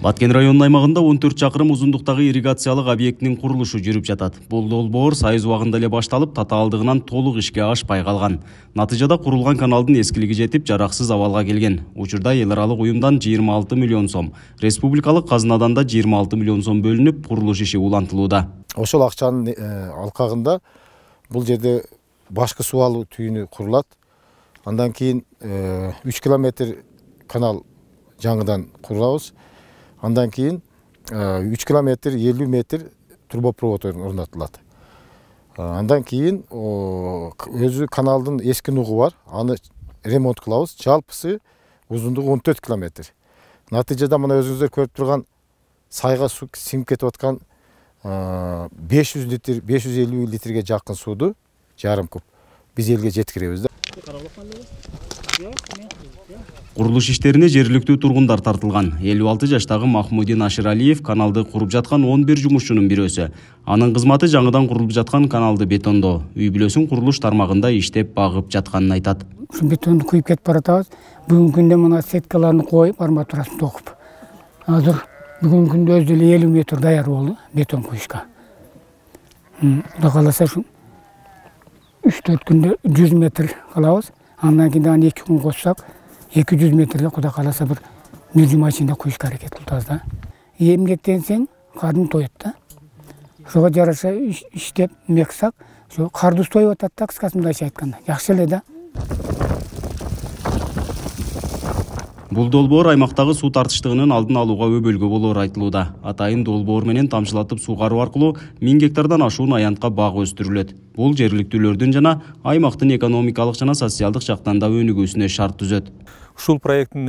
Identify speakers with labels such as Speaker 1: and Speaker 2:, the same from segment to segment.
Speaker 1: Баткен районунун аймагында 14 чакырым узундуктагы ирригациялык объекттин курулушу жүрүп жатат. Бул долбоор Союз убагында эле башталып, татаалдыгынан толук ишке ашпай калган. Натыйжада курулган каналдын эскилиги жетип, жараксыз абалга келген. Учурда эл аралык уюмдан 26 миллион сом, республикалык казынадан да 26 миллион сом бөлүнүп, курулуш иши улантылууда.
Speaker 2: Ошол акчанын алкагында бул жерде башкы суу алуу түйүнү курулат. Андан кийин 3 километр канал жаңыдан курабыз. Андан кийин 3 километр 50 метр трубопровод орнотулат. Андан кийин өзү каналдын эски нугу бар, аны ремонт кылабыз. Жалпысы узундугу 14 километр. Натыйжада мына өзүңүздөр көрүп турган сайга суу сиңип кетип аткан 500 литр, 550 литрге жакын сууду жарым куб биз элге жеткиребиз да.
Speaker 1: Курулуш иштерине жергиликтүү тургундар тартылган. 56 жаштагы Махмудин Аширалиев каналды куруп жаткан 11 жумушчунун бирөөсү. Анын кызматы жаңыдан курулуп жаткан каналды бетондоо. Үй бүлөсүн курулуш тармагында иштеп багып жатканын айтат.
Speaker 3: Ушу бетонду куюп кетип баратабыз. Бүгүнкү күндө мына сеткаларды коюп, арматурасын токуп. Азыр бүгүнкү күндө өзү эле 50 метр даяр болду бетон куюшка. Кудай кааласа ушу 3-4 күндө 100 метр кылабыз. Андан кийин дагы 2 күн кошсак 200 метрге кудай кааласа бир 1 жума ичинде куюшка аракет кылабыз да. Эмгектенсең кардын тоет да. Ошого жараша иштеп мексак, ошо карды тоюп атат да, кыскасы мындайча айтканда. Жакшы эле да.
Speaker 1: Бул долбоор аймактагы суу тартыштыгынын алдын алууга өбөлгө болоор айтылууда. Атайын долбоор менен тамчылатып суугаруу аркылуу 1000 гектардан ашуун аянтка бак өстүрүлөт. Бул жергиликтүүлөрдүн жана аймактын экономикалык жана социалдык жактан да өнүгүүсүнө шарт түзөт.
Speaker 4: Ушул проекттин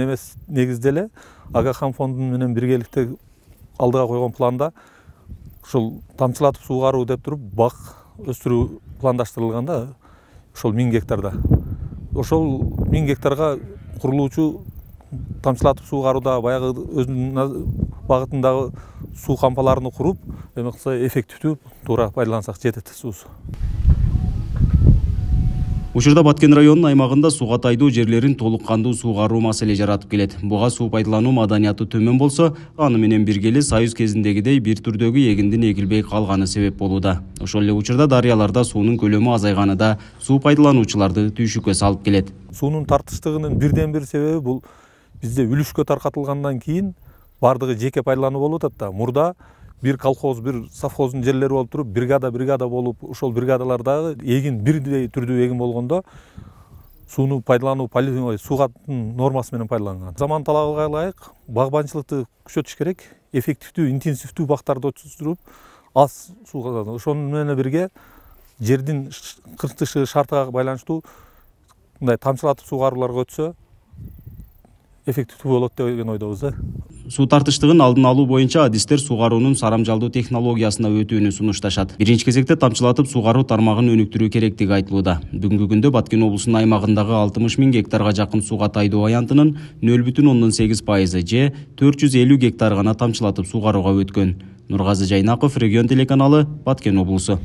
Speaker 4: негизде эле Агахам фонду менен биргеликте алдыга койгон планда ушул тамчылатып суугаруу деп туруп бак өстүрүү пландаштырылган да. Ошол 1000 гектарда. Ошол 1000 гектарга курулуучу тамчылатып суугарууда баягы өзүнүн багытындагы суу кампаларын куруп, эме кылса эффективдүү туура пайдалансак жетет суусу.
Speaker 1: Учурда Баткен районунун аймагында сууга тайдуу жерлерин толук кандуу суугаруу маселе жаратып келет. Буга суу пайдалануу маданияты төмөн болсо, аны менен биргеле Союз кезиндегидей бир түрдөгү эгиндин эгилбей калганы себеп болууда. Ошол эле учурда дарыяларда суунун көлөмү азайганы да суу пайдалануучуларды түйшүккө салып келет.
Speaker 4: Суунун тартыштыгынын бирден бир себеби бул бизде үлүшкө таркатылгандан кийин бардыгы жеке пайдалануу болуп атат да. Мурда бир колхоз, бир совхоздун жерлери болуп туруп, бригада болуп, ошол бригадалардагы эгин бирдей түрдүү эгин болгондо сууну пайдалануу суугаттын нормасы менен пайдаланган. Заман талабыга ылайык багбанчылыкты күчөтүш керек, эффективдүү, интенсивдүү бактарды өткөрүп, аз сууга. Ошону менен бирге жердин кыртышы шартыга байланыштуу мындай тамчылатып суугарууларга өтсө эффективдүү болот деген ойдобуз да.
Speaker 1: Суу тартыштыгын алдын алуу боюнча адистер суугаруунун сарамжалдуу технологиясына өтүүнү сунушташат. Биринчи кезекте тамчылатып суугаруу тармагын өнүктүрүү керектиги айтылууда. Бүгүнкү күндө Баткен облусунун аймагындагы 60 000 гектарга жакын сууга тайдуу аянтынын 0,8% же 450 гектар гана тамчылатып суугарууга өткөн. Нургазы Жайнаков, Регион телеканалы, Баткен облусу.